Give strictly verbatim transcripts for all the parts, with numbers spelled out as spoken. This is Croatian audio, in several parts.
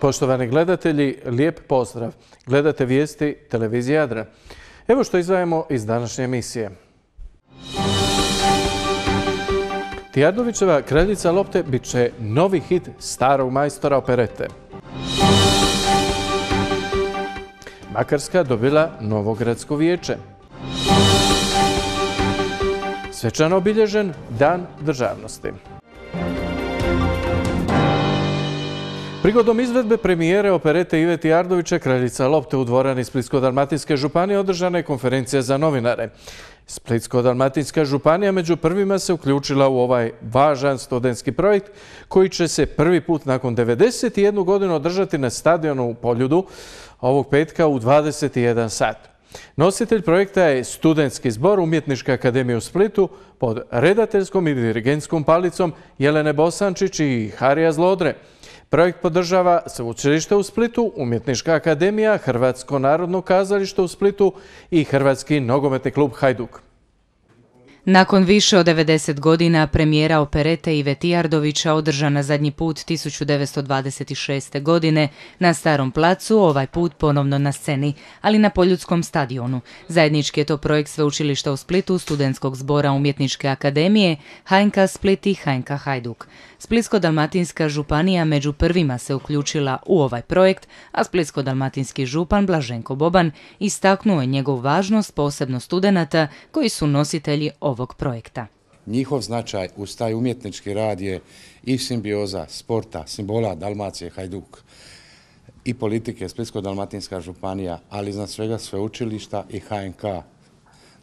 Poštovani gledatelji, lijep pozdrav. Gledate vijesti televizije Jadran. Evo što izdvajamo iz današnje emisije. Tijardovićeva Kraljica lopte bit će novi hit starog majstora operete. Makarska dobila novo gradsko vijeće. Svečano obilježen Dan državnosti. Prigodom izvedbe premijere operete Ive Tijardovića Kraljica lopte u dvorani Splitsko-dalmatinske županije održana je konferencija za novinare. Splitsko-dalmatinska županija među prvima se uključila u ovaj važan studentski projekt koji će se prvi put nakon devedeset jednu godinu održati na stadionu u Poljudu ovog petka u dvadeset jedan sat. Nositelj projekta je Studentski zbor Umjetničke akademije u Splitu pod redateljskom i dirigentskom palicom Jelene Bosančić i Harija Zlodre. Projekt podržava Sveučilište u Splitu, Umjetnička akademija, Hrvatsko narodno kazalište u Splitu i Hrvatski nogometni klub Hajduk. Nakon više od devedeset godina premijera operete Ive Tijardovića održana zadnji put tisuću devetsto dvadeset šeste. godine na Starom placu, ovaj put ponovno na sceni, ali na Poljudskom stadionu. Zajednički je to projekt Sveučilišta u Splitu, Studentskog zbora Umjetničke akademije, H N K Split i H N K Hajduk. Splitsko-dalmatinska županija među prvima se uključila u ovaj projekt, a splitsko-dalmatinski župan Blaženko Boban istaknuo je njegovu važnost, posebno studenata koji su nositelji ovog projekta. Njihov značaj uz taj umjetnički rad je i simbioza sporta, simbola Dalmacije, Hajduk i politike Splitsko-dalmatinska županija, ali iznad svega sveučilišta i H N K.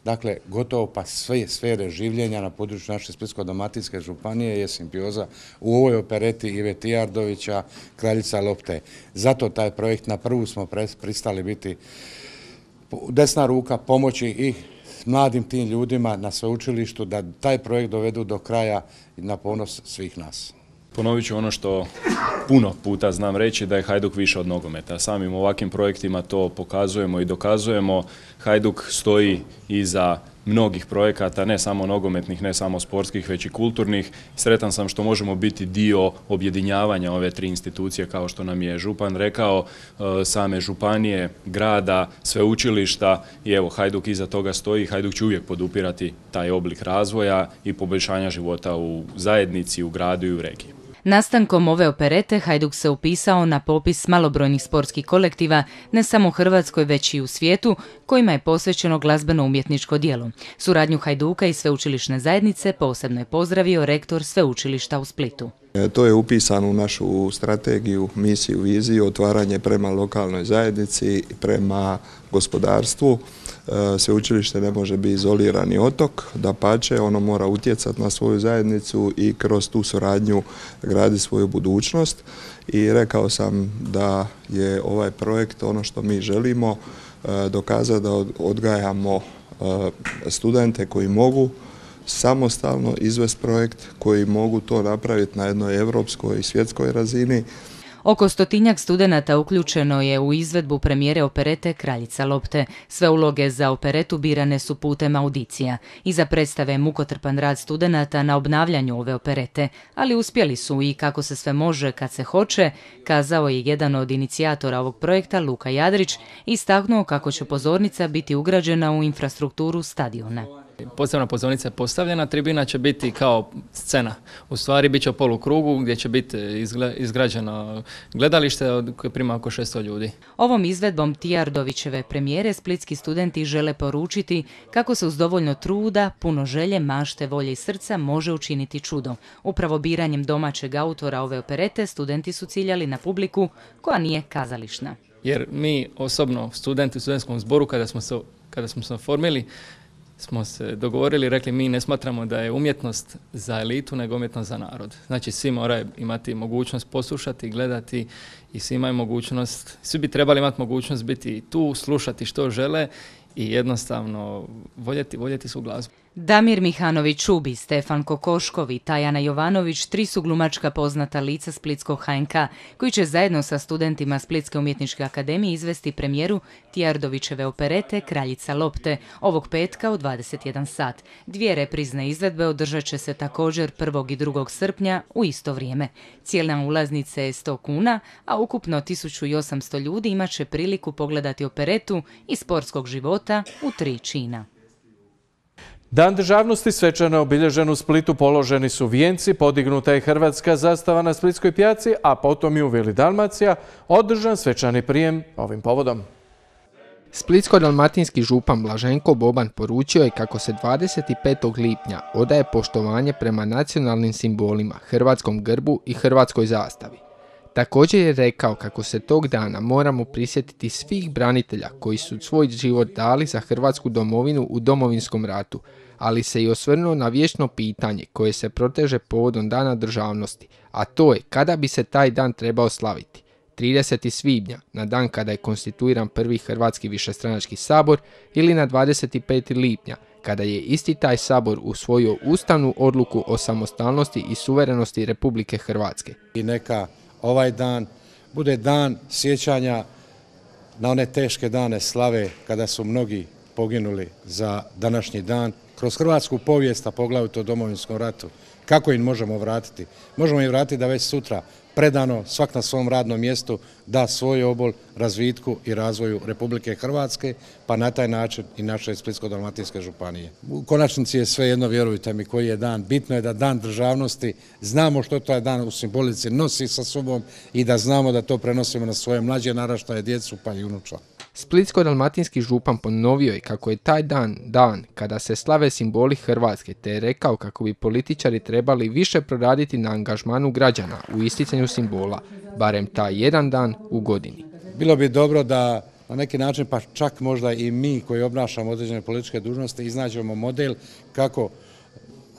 Dakle, gotovo pa sve sfere življenja na području naše Splitsko-dalmatinske županije je simbioza u ovoj opereti Ive Tijardovića Kraljica lopte. Zato taj projekt na prvu smo pristali biti desna ruka pomoći i mladim tim ljudima na sveučilištu da taj projekt dovedu do kraja na ponos svih nas. Ponovit ću ono što puno puta znam reći, da je Hajduk više od nogometa. Samim ovakvim projektima to pokazujemo i dokazujemo. Hajduk stoji iza mnogih projekata, ne samo nogometnih, ne samo sportskih, već i kulturnih. Sretan sam što možemo biti dio objedinjavanja ove tri institucije, kao što nam je župan rekao, same županije, grada, sveučilišta i evo, Hajduk iza toga stoji. Hajduk će uvijek podupirati taj oblik razvoja i poboljšanja života u zajednici, u gradu i u regiji. Nastankom ove operete Hajduk se upisao na popis malobrojnih sportskih kolektiva ne samo u Hrvatskoj već i u svijetu kojima je posvećeno glazbeno-umjetničko djelo. Suradnju Hajduka i sveučilišne zajednice posebno je pozdravio rektor Sveučilišta u Splitu. To je upisano u našu strategiju, misiju, viziju, otvaranje prema lokalnoj zajednici, prema gospodarstvu. Sveučilište ne može biti izolirani otok, dapače, ono mora utjecati na svoju zajednicu i kroz tu suradnju gradi svoju budućnost. I rekao sam da je ovaj projekt ono što mi želimo dokazati, da odgajamo studente koji mogu samostalno izvesti projekt, koji mogu to napraviti na jednoj europskoj i svjetskoj razini. Oko stotinjak studenata uključeno je u izvedbu premijere operete Kraljica lopte. Sve uloge za operetu birane su putem audicija. Iza predstave mukotrpan rad studenata na obnavljanju ove operete, ali uspjeli su i kako se sve može kad se hoće, kazao je jedan od inicijatora ovog projekta, Luka Jadrić, istaknuo kako će pozornica biti ugrađena u infrastrukturu stadiona. Posebna pozornica je postavljena, tribina će biti kao scena. U stvari bit će u polukrugu gdje će biti izgrađeno gledalište koje prima oko šesto ljudi. Ovom izvedbom Tijardovićeve premijere splitski studenti žele poručiti kako se uz dovoljno truda, puno želje, mašte, volje i srca može učiniti čudo. Upravo biranjem domaćeg autora ove operete studenti su ciljali na publiku koja nije kazališna. Jer mi osobno, studenti u studentskom zboru, kada smo se, kada smo se oformili, smo se dogovorili i rekli mi ne smatramo da je umjetnost za elitu, nego umjetnost za narod. Znači svi moraju imati mogućnost poslušati, gledati i svi imaju mogućnost, svi bi trebali imati mogućnost biti tu, slušati što žele i jednostavno voljeti, voljeti su glazbu. Damir Mihanović-Čubi, Stefan Kokoškov i Tajana Jovanović tri su glumačka poznata lica Splitskog H N K, koji će zajedno sa studentima Splitske umjetničke akademije izvesti premijeru Tijardovićeve operete Kraljica lopte ovog petka u dvadeset jedan sat. Dvije reprizne izvedbe održat će se također prvog i drugog srpnja u isto vrijeme. Cijena ulaznice je sto kuna, a ukupno tisuću osamsto ljudi imat će priliku pogledati operetu iz sportskog života u tri čina. Dan državnosti svečano obilježen u Splitu, položeni su vijenci, podignuta je hrvatska zastava na Splitskoj pijaci, a potom i u Vili Dalmacija održan svečani prijem ovim povodom. Splitsko-dalmatinski župan Blaženko Boban poručio je kako se dvadeset petog lipnja odaje poštovanje prema nacionalnim simbolima, hrvatskom grbu i hrvatskoj zastavi. Također je rekao kako se tog dana moramo prisjetiti svih branitelja koji su svoj život dali za Hrvatsku domovinu u Domovinskom ratu, ali se i osvrnuo na vječno pitanje koje se proteže povodom Dana državnosti, a to je kada bi se taj dan trebao slaviti. tridesetog svibnja, na dan kada je konstituiran prvi Hrvatski višestranački sabor, ili na dvadeset petog lipnja, kada je isti taj sabor usvojio ustavnu odluku o samostalnosti i suverenosti Republike Hrvatske. I neka ovaj dan bude dan sjećanja na one teške dane slave kada su mnogi poginuli za današnji dan. Kroz hrvatsku povijest, a poglavito u Domovinskom ratu, kako im možemo vratiti? Možemo im vratiti da već sutra predano, svak na svom radnom mjestu, da svoj obol razvitku i razvoju Republike Hrvatske, pa na taj način i naše Splitsko-dalmatinske županije. U konačnici je sve jedno, vjerujte mi, koji je dan. Bitno je da dan državnosti, znamo što taj dan u simbolici nosi sa sobom i da znamo da to prenosimo na svoje mlađe naraštaje, djecu pa i unuča. Splitsko-dalmatinski župan ponovio je kako je taj dan dan kada se slave simboli Hrvatske, te je rekao kako bi političari trebali više proraditi na angažmanu građana u isticanju simbola, barem taj jedan dan u godini. Bilo bi dobro da na neki način, pa čak možda i mi koji obnašamo određene političke dužnosti, iznađemo model kako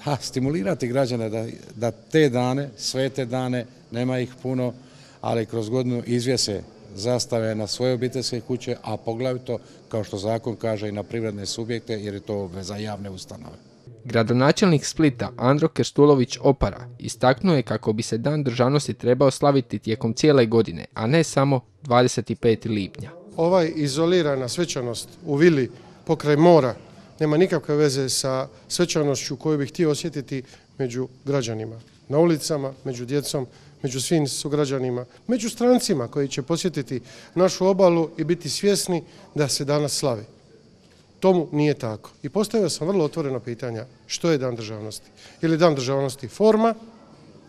ha, stimulirati građane da, da te dane, sve te dane, nema ih puno, ali kroz godinu izvjese zastave na svoje obiteljske kuće, a poglavito, kao što zakon kaže, i na privredne subjekte, jer je to obveza javne ustanove. Gradonačelnik Splita Andro Krstulović Opara istaknuo je kako bi se Dan državnosti trebao slaviti tijekom cijele godine, a ne samo dvadeset petog lipnja. Ovaj izolirana svečanost u vili pokraj mora nema nikakve veze sa svečanošću koju bih htio osjetiti među građanima, na ulicama, među djecom, među svim sugrađanima, među strancima koji će posjetiti našu obalu i biti svjesni da se danas slavi. Tomu nije tako. I postavio sam vrlo otvoreno pitanja što je Dan državnosti. Je li Dan državnosti forma,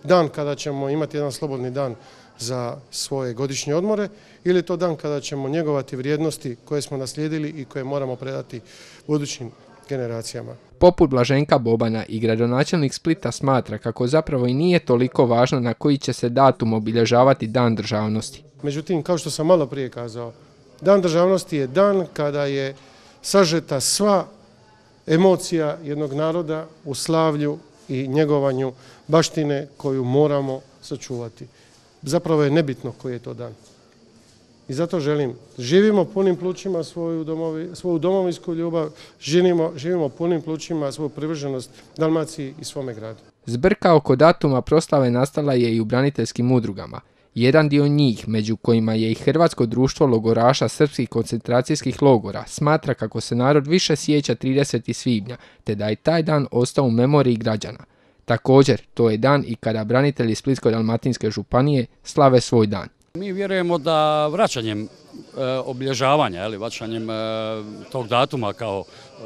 dan kada ćemo imati jedan slobodni dan za svoje godišnje odmore, ili je to dan kada ćemo njegovati vrijednosti koje smo naslijedili i koje moramo predati budućim generacijama. Poput Blaženka Bobana i gradonačelnik Splita smatra kako zapravo i nije toliko važno na koji će se datum obilježavati Dan državnosti. Međutim, kao što sam malo prije kazao, Dan državnosti je dan kada je sažeta sva emocija jednog naroda u slavlju i njegovanju baštine koju moramo sačuvati. Zapravo je nebitno koji je to dan. I zato želim, živimo punim plućima svoju, domovi, svoju domovinsku ljubav, živimo, živimo punim plućima svoju privrženost Dalmaciji i svome gradu. Zbrka oko datuma proslave nastala je i u braniteljskim udrugama. Jedan dio njih, među kojima je i Hrvatsko društvo logoraša srpskih koncentracijskih logora, smatra kako se narod više sjeća tridesetog svibnja, te da je taj dan ostao u memoriji građana. Također, to je dan i kada branitelji Splitsko-dalmatinske županije slave svoj dan. Mi vjerujemo da vraćanjem e, obilježavanja, ili vraćanjem e, tog datuma kao e,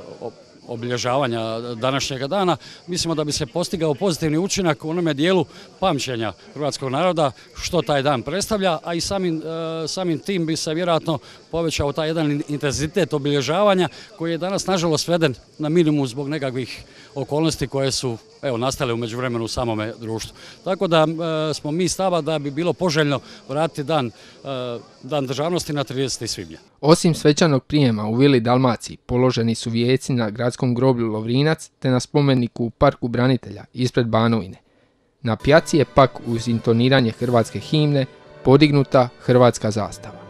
obilježavanja današnjega dana, mislimo da bi se postigao pozitivni učinak u onome dijelu pamćenja hrvatskog naroda što taj dan predstavlja, a i samim, e, samim tim bi se vjerojatno povećao taj jedan intenzitet obilježavanja koji je danas nažalost sveden na minimum zbog nekakvih okolnosti koje su evo, nastale u međuvremenu u samome društvu. Tako da e, smo mi stava da bi bilo poželjno vratiti dan, e, dan državnosti na tridesetog svibnja. Osim svečanog prijema u Vili Dalmaciji, položeni su vijeci na gradskom groblju Lovrinac te na spomeniku u Parku branitelja ispred Banovine. Na pjaci je pak uz intoniranje hrvatske himne podignuta hrvatska zastava.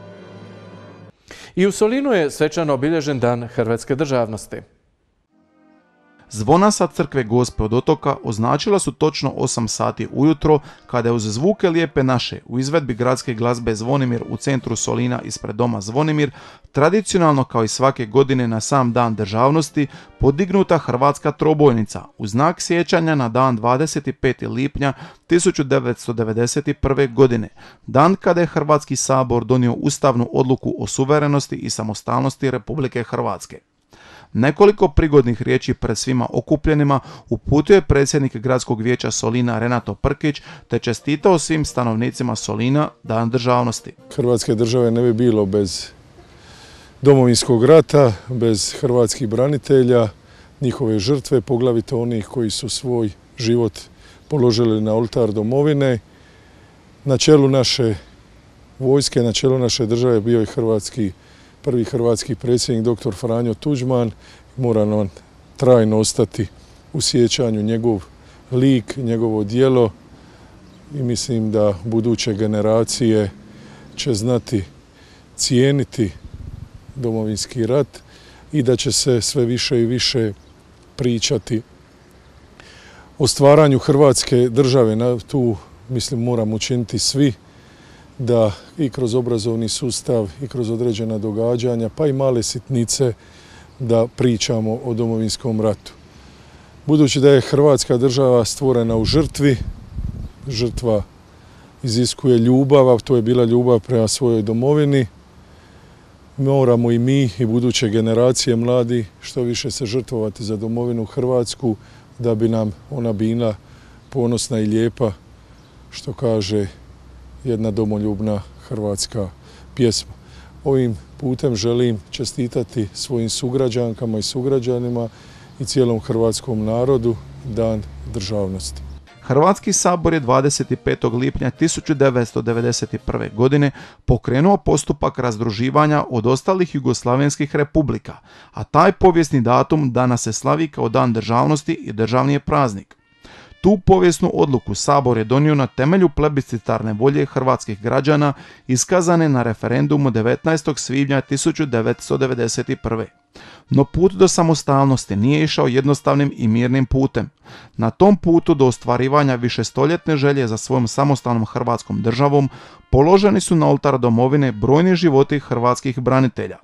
I u Solinu je svečano obilježen Dan hrvatske državnosti. Zvona sa crkve Gospe od Otoka označila su točno osam sati ujutro kada je uz zvuke Lijepe naše u izvedbi gradske glazbe Zvonimir u centru Solina ispred doma Zvonimir tradicionalno kao i svake godine na sam Dan državnosti podignuta hrvatska trobojnica u znak sjećanja na dan dvadeset petog lipnja tisuću devetsto devedeset prve. godine, dan kada je Hrvatski sabor donio ustavnu odluku o suverenosti i samostalnosti Republike Hrvatske. Nekoliko prigodnih riječi pred svima okupljenima uputio je predsjednik Gradskog vijeća Solina Renato Prkić te čestitao svim stanovnicima Solina Dan državnosti. Hrvatske države ne bi bilo bez Domovinskog rata, bez hrvatskih branitelja, njihove žrtve, poglavito onih koji su svoj život položili na oltar domovine. Na čelu naše vojske, na čelu naše države bio je hrvatski prvi hrvatski predsjednik doktor Franjo Tuđman. Mora nam trajno ostati u sjećanju njegov lik, njegovo djelo i mislim da buduće generacije će znati cijeniti Domovinski rat i da će se sve više i više pričati o stvaranju Hrvatske države. Tu mislim moramo učiniti svi da i kroz obrazovni sustav i kroz određena događanja, pa i male sitnice, da pričamo o Domovinskom ratu. Budući da je Hrvatska država stvorena u žrtvi, žrtva iziskuje ljubav, a to je bila ljubav prema svojoj domovini, moramo i mi i buduće generacije mladi što više se žrtvovati za domovinu Hrvatsku, da bi nam ona bila ponosna i lijepa, što kaže jedna domoljubna hrvatska pjesma. Ovim putem želim čestitati svojim sugrađankama i sugrađanima i cijelom hrvatskom narodu Dan državnosti. Hrvatski sabor je dvadeset petog lipnja tisuću devetsto devedeset prve. godine pokrenuo postupak razdruživanja od ostalih jugoslavenskih republika, a taj povijesni datum danas se slavi kao Dan državnosti i državni je praznik. Tu povijesnu odluku Sabor je donio na temelju plebiscitarne volje hrvatskih građana iskazane na referendumu devetnaestog svibnja tisuću devetsto devedeset prve. No put do samostalnosti nije išao jednostavnim i mirnim putem. Na tom putu do ostvarivanja višestoljetne želje za svojom samostalnom hrvatskom državom položeni su na oltar domovine brojni životi hrvatskih branitelja.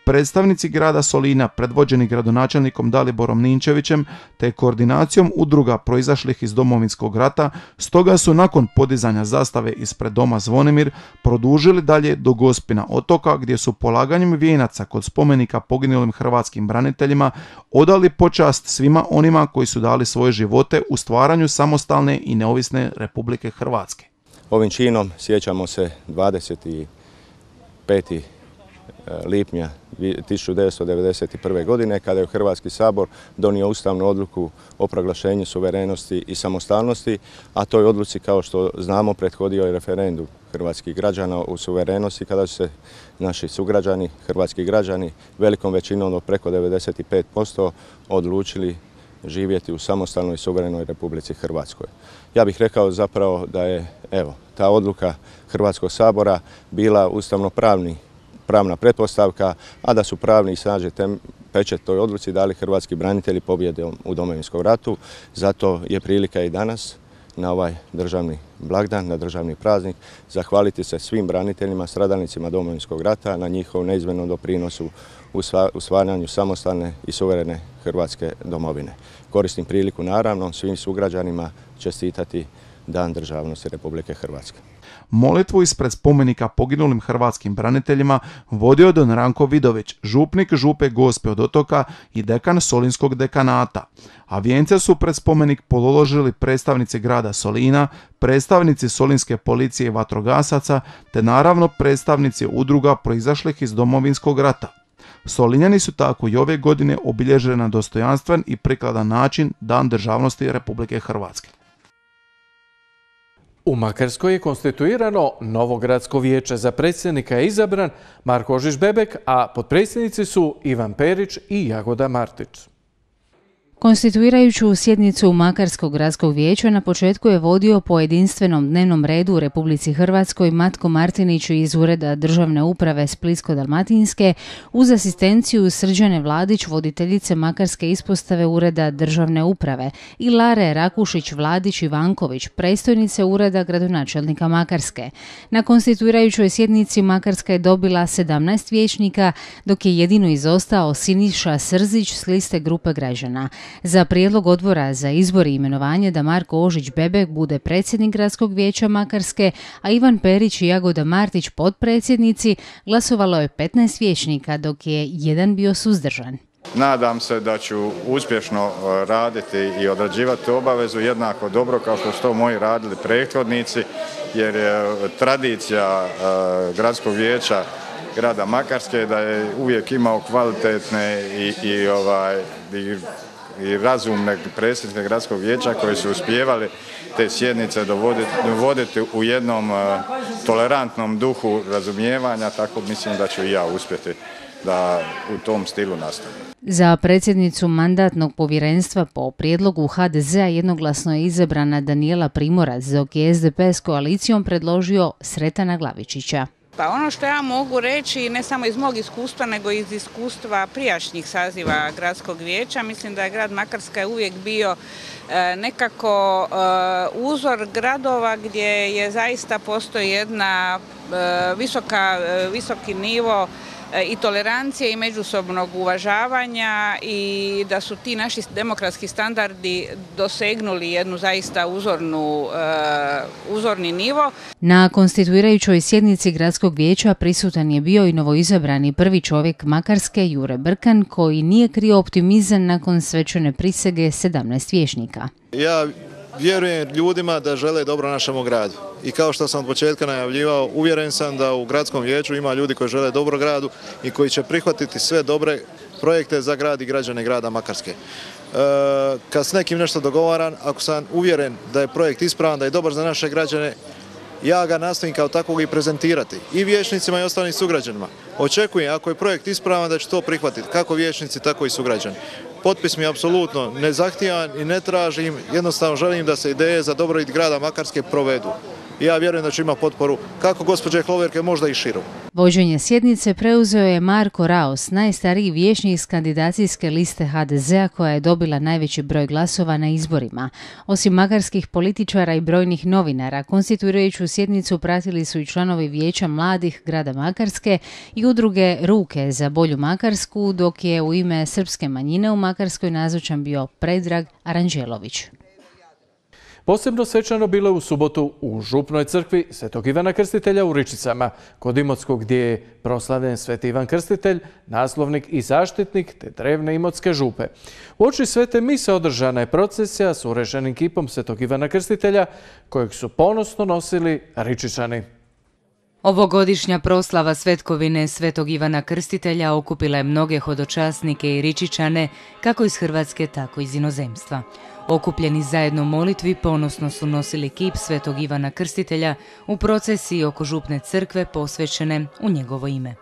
Predstavnici grada Solina, predvođeni gradonačelnikom Daliborom Ninčevićem, te koordinacijom udruga proizašlih iz Domovinskog rata, stoga su nakon podizanja zastave ispred doma Zvonimir produžili dalje do Gospina otoka, gdje su polaganjem vijenaca kod spomenika poginulim hrvatskim braniteljima odali počast svima onima koji su dali svoje živote u stvaranju samostalne i neovisne Republike Hrvatske. Ovim činom sjećamo se dvadeset petog lipnja tisuću devetsto devedeset prve. godine kada je Hrvatski sabor donio ustavnu odluku o proglašenju suverenosti i samostalnosti, a toj odluci, kao što znamo, prethodio je referendum hrvatskih građana u suverenosti kada su se naši sugrađani, hrvatski građani, velikom većinom od preko devedeset pet posto odlučili živjeti u samostalnoj i suverenoj Republici Hrvatskoj. Ja bih rekao zapravo da je evo ta odluka Hrvatskog sabora bila ustavno-pravni pravna pretpostavka, a da su pravni i snažni pečat toj odluci dali hrvatski branitelji pobjede u Domovinskom ratu. Zato je prilika i danas na ovaj državni blagdan, na državni praznik, zahvaliti se svim braniteljima, stradalnicima Domovinskog rata na njihovom neizmjernom doprinosu u stvaranju samostalne i suverene Hrvatske domovine. Koristim priliku naravno svim sugrađanima čestitati Dan državnosti Republike Hrvatske. Molitvu ispred spomenika poginulim hrvatskim braniteljima vodio je don Ranko Vidović, župnik župe Gospe od Otoka i dekan Solinskog dekanata, a vijence su pred spomenik položili predstavnici grada Solina, predstavnici Solinske policije i vatrogasaca, te naravno predstavnici udruga proizašlih iz Domovinskog rata. Solinjani su tako i ove godine obilježili na dostojanstven i prikladan način Dan državnosti Republike Hrvatske. U Makarskoj je konstituirano novo gradsko vijeće. Za predsjednika je izabran Marko Ožiš-Bebek, a potpredsjednici su Ivan Perić i Jagoda Martić. Konstituirajuću sjednicu Makarskog gradskog vijeća na početku je vodio po jedinstvenom dnevnom redu u Republici Hrvatskoj Matko Martinić iz Ureda državne uprave Splitsko-dalmatinske uz asistenciju Srđane Vladić, voditeljice Makarske ispostave Ureda državne uprave, i Lare Rakušić-Vladić-Ivanković, predstojnice Ureda gradonačelnika Makarske. Na konstituirajućoj sjednici Makarska je dobila sedamnaest vijećnika, dok je jedino izostao Siniša Srzić s liste grupe građana. Za prijedlog odbora za izbor i imenovanje da Marko Ožić-Bebek bude predsjednik Gradskog vijeća Makarske, a Ivan Perić i Jagoda Martić potpredsjednici, glasovalo je petnaest vijećnika, dok je jedan bio suzdržan. Nadam se da ću uspješno raditi i odrađivati obavezu jednako dobro kao što su to moji radili prethodnici, jer je tradicija Gradskog vijeća grada Makarske da je uvijek imao kvalitetne i, i, ovaj, i i razumne predsjednike gradskog vijeća koji su uspijevali te sjednice dovoditi u jednom uh, tolerantnom duhu razumijevanja, tako mislim da ću i ja uspjeti da u tom stilu nastavim. Za predsjednicu mandatnog povjerenstva po prijedlogu ha de zea jednoglasno je izabrana Danijela Primorac, dok je es de pe s koalicijom predložio Sretana Glavičića. Pa ono što ja mogu reći, ne samo iz mog iskustva, nego iz iskustva prijašnjih saziva gradskog vijeća, mislim da je grad Makarska uvijek bio nekako uzor gradova gdje je zaista postoji jedna visoka, visoki nivo i tolerancije i međusobnog uvažavanja i da su ti naši demokratski standardi dosegnuli jednu zaista uzornu, uh, uzorni nivo. Na konstituirajućoj sjednici Gradskog vijeća prisutan je bio i novoizabrani prvi čovjek Makarske Jure Brkan, koji nije krio optimizam nakon svečane prisege sedamnaest vijećnika. Ja vjerujem ljudima da žele dobro našemu gradu. I kao što sam od početka najavljivao, uvjeren sam da u gradskom vijeću ima ljudi koji žele dobro gradu i koji će prihvatiti sve dobre projekte za grad i građane grada Makarske. E, kad s nekim nešto dogovaram, ako sam uvjeren da je projekt ispravan, da je dobar za naše građane, ja ga nastojim kao takvog i prezentirati i vijećnicima i ostalim sugrađanima. Očekujem, ako je projekt ispravan, da će to prihvatiti kako vijećnici, tako i sugrađani. Potpis mi apsolutno ne zahtijevam i ne tražim, jednostavno želim da se ideje za dobrobit grada Makarske provedu. Ja vjerujem da će imati potporu kako gospođe Hloverke, možda i širu. Vođenje sjednice preuzeo je Marko Raos, najstariji vijećnik iz kandidacijske liste ha de zea koja je dobila najveći broj glasova na izborima. Osim makarskih političara i brojnih novinara, konstituirajuću sjednicu pratili su i članovi Vijeća mladih grada Makarske i udruge Ruke za bolju Makarsku, dok je u ime srpske manjine u Makarskoj nazočan bio Predrag Aranđelović. Posebno svečano bilo u subotu u župnoj crkvi Svetog Ivana Krstitelja u Ričicama, kod Imotskog, gdje je proslavljen Sveti Ivan Krstitelj, naslovnik i zaštitnik te drevne Imotske župe. U oči svete mise održana je procesija s urešenim kipom Svetog Ivana Krstitelja, kojeg su ponosno nosili Ričičani. Ovogodišnja proslava svetkovine Svetog Ivana Krstitelja okupila je mnoge hodočasnike i Ričičane, kako iz Hrvatske, tako i iz inozemstva. Okupljeni zajedno u molitvi ponosno su nosili kip Svetog Ivana Krstitelja u procesiji oko župne crkve posvećene u njegovo ime.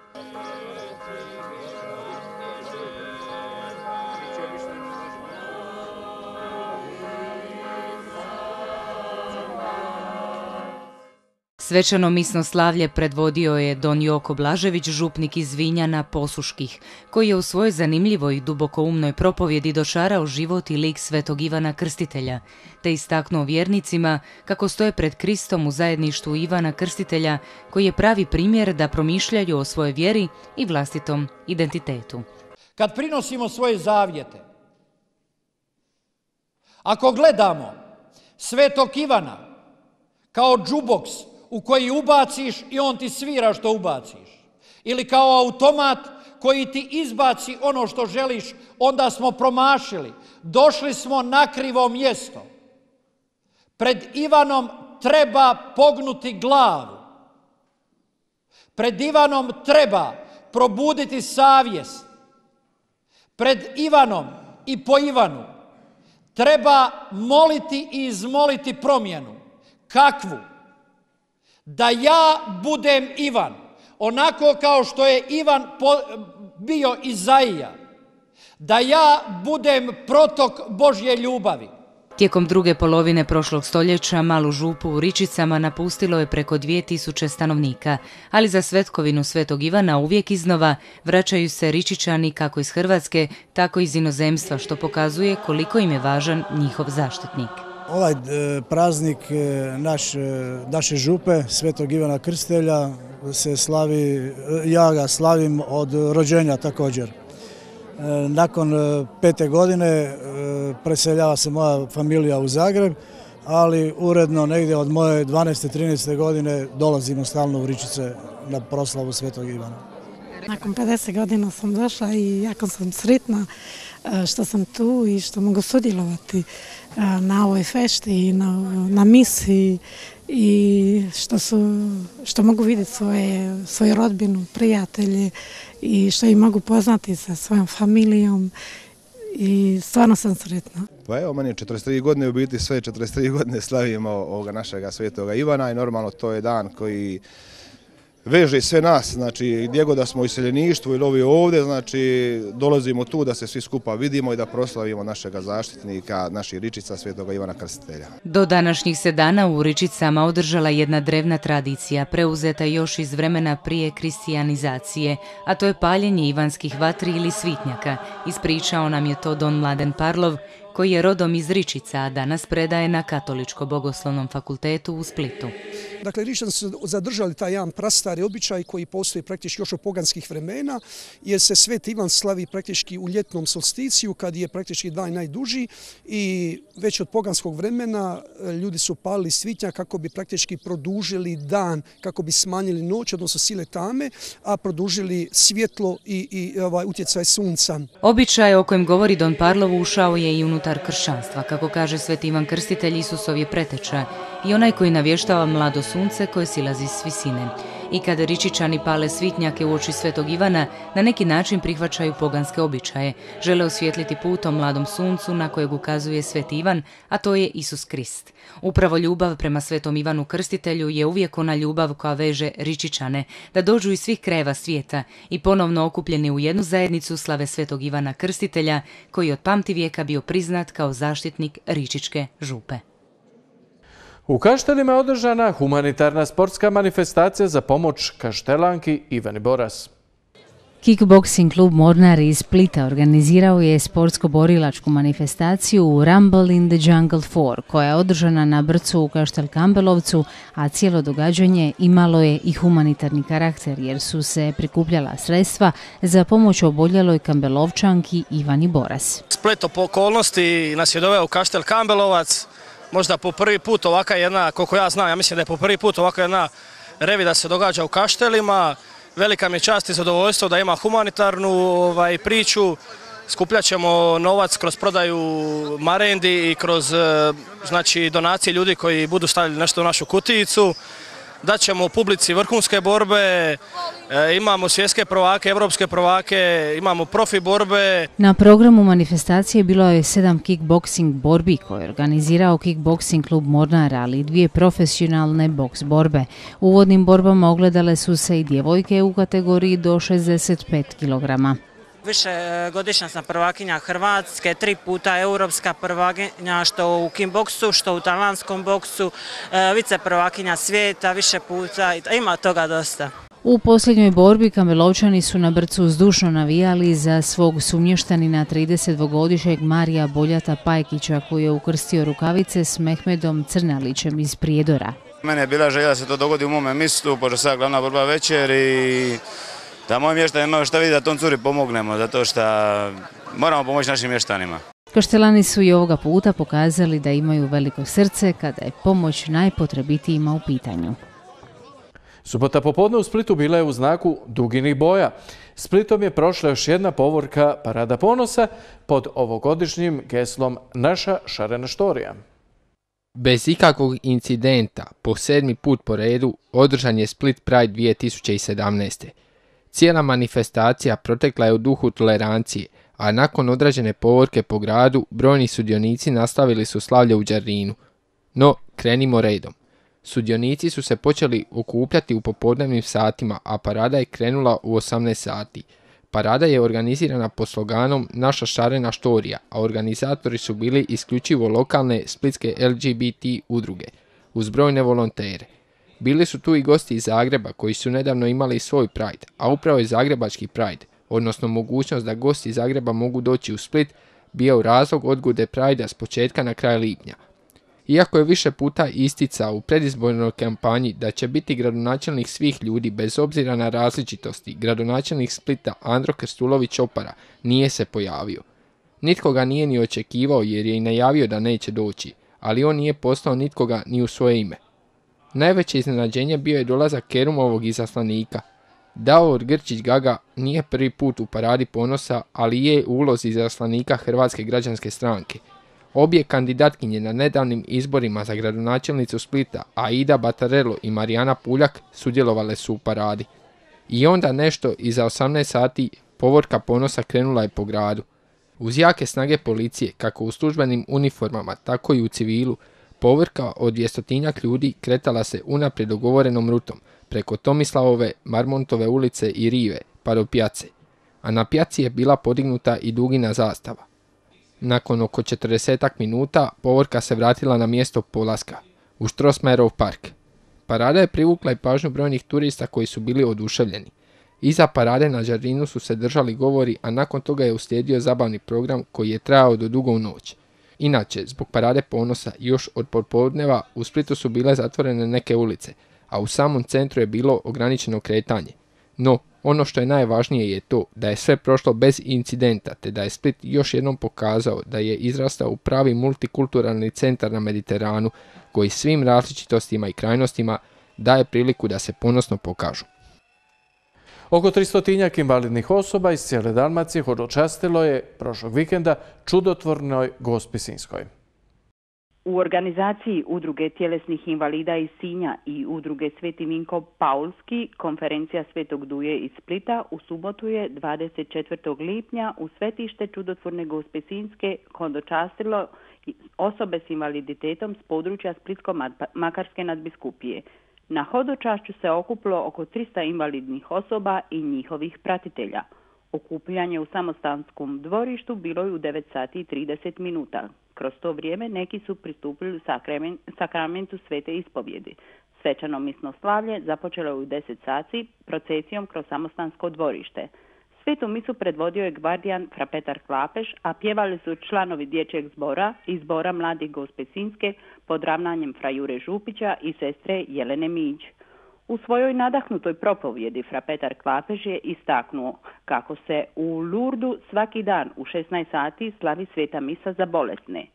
Svečano misno slavlje predvodio je don Joko Blažević, župnik iz Vinjana Posuških, koji je u svojoj zanimljivoj i dubokoumnoj propovjedi dočarao život i lik Svetog Ivana Krstitelja, te istaknuo vjernicima kako stoje pred Kristom u zajedništvu Ivana Krstitelja, koji je pravi primjer da promišljaju o svojoj vjeri i vlastitom identitetu. Kad prinosimo svoje zavjete, ako gledamo Svetog Ivana kao džuboks u koji ubaciš i on ti svira što ubaciš, ili kao automat koji ti izbaci ono što želiš, onda smo promašili. Došli smo na krivo mjesto. Pred Ivanom treba pognuti glavu. Pred Ivanom treba probuditi savjest. Pred Ivanom i po Ivanu treba moliti i izmoliti promjenu. Kakvu? Da ja budem Ivan, onako kao što je Ivan bio Izaija. da ja budem protok Božje ljubavi. Tijekom druge polovine prošlog stoljeća malu župu u Ričicama napustilo je preko dvije tisuće stanovnika, ali za svetkovinu Svetog Ivana uvijek iznova vraćaju se Ričičani kako iz Hrvatske, tako i iz inozemstva, što pokazuje koliko im je važan njihov zaštitnik. Ovaj praznik naš, naše župe, Svetog Ivana Krstitelja, se slavi, ja ga slavim od rođenja također. Nakon pete godine preseljava se moja familija u Zagreb, ali uredno negdje od moje dvanaeste trinaeste godine dolazimo stalno u Ričice na proslavu Svetog Ivana. Nakon pedeset godina sam došla i jako sam sretna što sam tu i što mogu sudjelovati na ovoj fešti i na, na misi i što, su, što mogu vidjeti svoje, svoju rodbinu, prijatelje i što ih mogu poznati sa svojom familijom i stvarno sam sretna. Pa evo, meni je četrdeset tri godine, u biti sve četrdeset tri godine slavimo ovoga našega Svetoga Ivana i normalno to je dan koji veže sve nas, znači gdje god da smo u iseljeništvu ili ovi ovdje, znači dolazimo tu da se svi skupa vidimo i da proslavimo našega zaštitnika, naših Ričica, Svetoga Ivana Krstitelja. Do današnjih se dana u Ričicama održala jedna drevna tradicija, preuzeta još iz vremena prije kristijanizacije, a to je paljenje ivanskih vatri ili svitnjaka. Ispričao nam je to don Mladen Parlov, koji je rodom iz Ričica, a danas predaje na Katoličko-bogoslovnom fakultetu u Splitu. Dakle, Ričani su zadržali taj jedan prastari običaj koji postoji praktički još od poganskih vremena, jer se Sveti Ivan slavi praktički u ljetnom solsticiju, kad je praktički dan najduži i već od poganskog vremena ljudi su palili svitnjak kako bi praktički produžili dan, kako bi smanjili noć, odnosno sile tame, a produžili svjetlo i, i ovaj, utjecaj sunca. Običaj o kojem govori don Parlov ušao je i unutar kršćanstva. Kako kaže Sveti Ivan Krstitelj, Isusov je preteča i onaj koji navještava mlado sunce koje silazi s visine. I kada Ričičani pale svitnjake u oči Svetog Ivana, na neki način prihvaćaju poganske običaje. Žele osvijetliti put o mladom suncu na kojeg ukazuje Sveti Ivan, a to je Isus Krist. Upravo ljubav prema Svetom Ivanu Krstitelju je uvijek ona ljubav koja veže Ričičane, da dođu iz svih krajeva svijeta i ponovno okupljeni u jednu zajednicu slave Svetog Ivana Krstitelja, koji od pamtivijeka bio priznat kao zaštitnik Ričičke župe. U Kaštelima je održana humanitarna sportska manifestacija za pomoć Kaštelanki Ivani Boras. Kickboxing klub Mornar iz Splita organizirao je sportsko-borilačku manifestaciju u Rumble in the Jungle četiri, koja je održana na Brcu u Kaštel Kambelovcu, a cijelo događanje imalo je i humanitarni karakter jer su se prikupljala sredstva za pomoć oboljeloj Kambelovčanki Ivani Boras. Spleto po okolnosti nas je doveo u Kaštel Kambelovac, možda po prvi put ovaka jedna, koliko ja znam, ja mislim da je po prvi put ovaka jedna revida se događa u Kaštelima. Velika mi je čast i zadovoljstvo da ima humanitarnu ovaj, priču. Skupljat ćemo novac kroz prodaju marendi i kroz znači, donacije ljudi koji budu stavili nešto u našu kutijicu. Daćemo publici vrhunske borbe, e, imamo svjetske prvake, evropske prvake, imamo profi borbe. Na programu manifestacije bilo je sedam kickboxing borbi koje je organizirao Kickboxing klub Mornar, ali i dvije profesionalne boks borbe. U uvodnim borbama ogledale su se i djevojke u kategoriji do šezdeset pet kilograma. Više godišnja sam prvakinja Hrvatske, tri puta europska prvakinja što u kickboksu, što u talijanskom boksu, vice prvakinja svijeta, više puta, ima toga dosta. U posljednjoj borbi Kambelovčani su na Brcu zdušno navijali za svog sumještanina tridesetdvogodišnjeg Marija Boljata Pajkića koji je ukrstio rukavice s Mehmedom Crnalićem iz Prijedora. Mene je bila želja da se to dogodi u mome mjestu, pošto sada glavna borba večer i da moji mještani imaju šta vidi da tom curi pomognemo, zato što moramo pomoći našim mještanima. Kaštelani su i ovoga puta pokazali da imaju veliko srce kada je pomoć najpotrebitijima u pitanju. Subota popodne u Splitu bila je u znaku duginih boja. Splitom je prošla još jedna povorka Parada ponosa pod ovogodišnjim geslom Naša šarena štorija. Bez ikakvog incidenta, po sedmi put po redu, održan je Split Pride dvije tisuće sedamnaeste. Cijela manifestacija protekla je u duhu tolerancije, a nakon odrađene povorke po gradu, brojni sudionici nastavili su slavlje u Đarinu. No, krenimo redom. Sudionici su se počeli okupljati u popodnevnim satima, a parada je krenula u osamnaest sati. Parada je organizirana pod sloganom Naša šarena štorija, a organizatori su bili isključivo lokalne splitske L G B T udruge, uz brojne volontere. Bili su tu i gosti iz Zagreba koji su nedavno imali svoj Pride, a upravo je Zagrebački Pride, odnosno mogućnost da gosti iz Zagreba mogu doći u Split, bio razlog odgode Pridea s početka na kraj lipnja. Iako je više puta isticao u predizbornoj kampanji da će biti gradonačelnik svih ljudi bez obzira na različitosti, gradonačelnik Splita Andro Krstulović Opara nije se pojavio. Nitko ga nije ni očekivao jer je i najavio da neće doći, ali on nije poslao nitkoga ni u svoje ime. Najveće iznenađenje bio je dolazak Kerumovog izaslanika. Davor Grčić Gaga nije prvi put u Paradi ponosa, ali je u ulozi izaslanika Hrvatske građanske stranke. Obje kandidatkinje na nedavnim izborima za gradonačelnicu Splita, Aida Batarello i Marijana Puljak, sudjelovale su u paradi. I onda nešto iza osamnaest sati povorka ponosa krenula je po gradu. Uz jake snage policije, kako u službenim uniformama, tako i u civilu, povorka od dvjestotinjak ljudi kretala se unaprijed dogovorenom rutom, preko Tomislavove, Marmontove ulice i Rive, pa do Pjace. A na Pjaci je bila podignuta i dugina zastava. Nakon oko četrdesetak minuta povorka se vratila na mjesto polaska, u Strossmayerov park. Parada je privukla i pažnju brojnih turista koji su bili oduševljeni. Iza parade na žardinu su se držali govori, a nakon toga je uslijedio zabavni program koji je trajao do dugo u noć. Inače, zbog Parade ponosa još od popodneva u Splitu su bile zatvorene neke ulice, a u samom centru je bilo ograničeno kretanje. No, ono što je najvažnije je to da je sve prošlo bez incidenta, te da je Split još jednom pokazao da je izrastao u pravi multikulturalni centar na Mediteranu, koji svim različitostima i krajnostima daje priliku da se ponosno pokažu. Oko tristotinjak invalidnih osoba iz cijele Dalmacije hodočastilo je prošlog vikenda čudotvornoj Gospi Sinjskoj. U organizaciji Udruge tjelesnih invalida iz Sinja i Udruge Sveti Vinko Paulski, konferencija Svetog Duje iz Splita u subotu je dvadeset četvrtog lipnja u svetište čudotvorne Gospe Sinjske hodočastilo osobe s invaliditetom s područja Splitsko-Makarske nadbiskupije. Na hodočašću se okupilo oko trista invalidnih osoba i njihovih pratitelja. Okupljanje u samostanskom dvorištu bilo je u devet sati i trideset minuta. Kroz to vrijeme neki su pristupili sakramentu svete ispovjedi. Svečano misno slavlje započelo je u deset sati procesijom kroz samostansko dvorište. Svetu misu predvodio je gvardijan fra Petar Klapeš, a pjevali su članovi dječjeg zbora i zbora mladih Gospe Sinjske pod ravnanjem fra Jure Župića i sestre Jelene Mić. U svojoj nadahnutoj propovjedi fra Petar Klapeš je istaknuo kako se u Lurdu svaki dan u šesnaest sati slavi sveta misa za bolesne.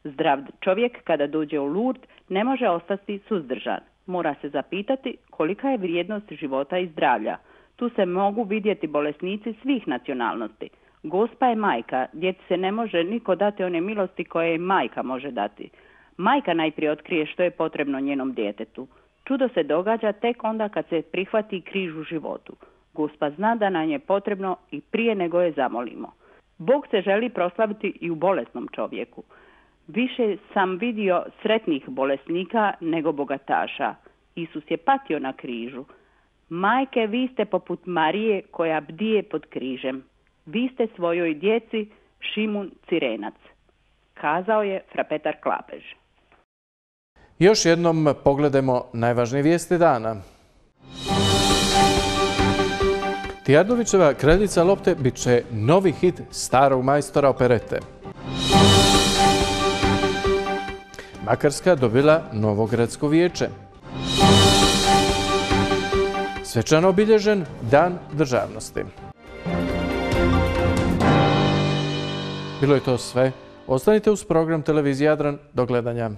Zdrav čovjek kada dođe u Lurd ne može ostati suzdržan. Mora se zapitati kolika je vrijednost života i zdravlja. Tu se mogu vidjeti bolesnici svih nacionalnosti. Gospa je majka, djeci se ne može niko dati one milosti koje majka može dati. Majka najprije otkrije što je potrebno njenom djetetu. Čudo se događa tek onda kad se prihvati križ u životu. Gospa zna da nam je potrebno i prije nego je zamolimo. Bog se želi proslaviti i u bolesnom čovjeku. Više sam vidio sretnih bolesnika nego bogataša. Isus je patio na križu. Majke, vi ste poput Marije koja bdije pod križem. Vi ste svojoj djeci Šimun Cirenac, kazao je fra Petar Klapež. Još jednom pogledajmo najvažnije vijesti dana. Tijardovićeva Kraljica lopte bit će novi hit starog majstora operete. Makarska dobila novo gradsko vijeće. Svečano obilježen Dan državnosti. Bilo je to sve. Ostanite uz program Televizije Jadran. Do gledanja.